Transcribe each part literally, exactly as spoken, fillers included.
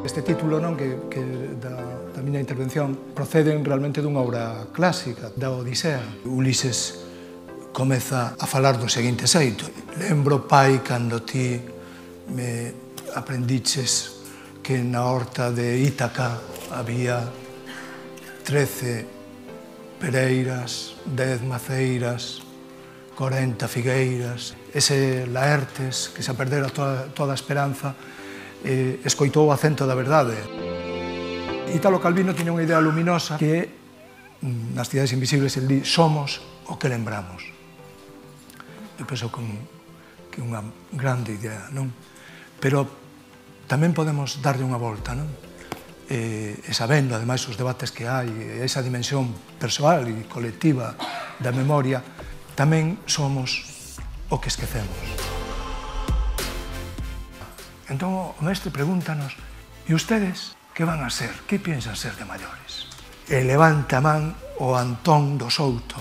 Este título non que, que da, da miña intervención proceden realmente dunha obra clásica, da Odisea. Ulises comeza a falar do seguinte xeito: lembro, pai, cando ti me aprendiches que na horta de Ítaca había trece pereiras, dez maceiras, corenta figueiras. Ese Laertes, que se perdera toda, toda a esperanza, eh, escoitou o acento da verdade. Italo Calvino tiña unha idea luminosa que nas cidades invisibles el di: somos o que lembramos. Eu penso que é unha grande idea, non? Pero tamén podemos darlle unha volta, non? E, e sabendo, ademais, os debates que hai, esa dimensión persoal e colectiva da memoria, tamén somos o que esquecemos. Entón, o mestre pregúntanos: e ustedes que van a ser? Que piensan ser de maiores? E levanta a man o Antón do Souto,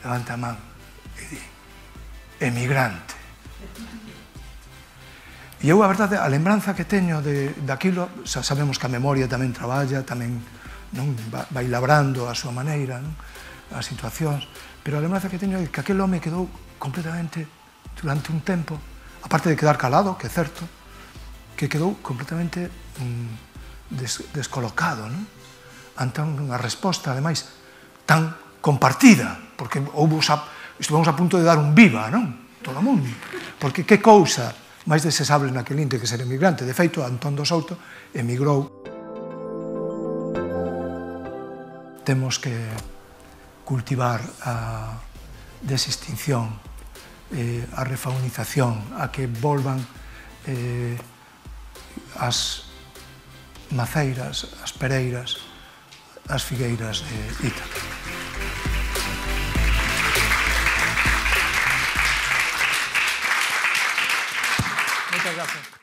levanta a man e di: emigrante. E eu, a verdade, a lembranza que teño de, daquilo, xa sabemos que a memoria tamén traballa, tamén non vai labrando a súa maneira, non? As situacións, pero a lembranza que teño é que aquel home quedou completamente, durante un tempo, aparte de quedar calado, que é certo, que quedou completamente mm, des, descolocado, non? Ante unha resposta, ademais, tan compartida, porque houve, estivemos a punto de dar un viva, non? Todo o mundo. Porque que cousa máis desexable naquele inte que ser emigrante. De feito, Antón do Souto emigrou. Temos que cultivar a desextinción, eh, a refaunización, a que volvan eh, as maceiras, as pereiras, as figueiras de Ítaca. Muchas gracias.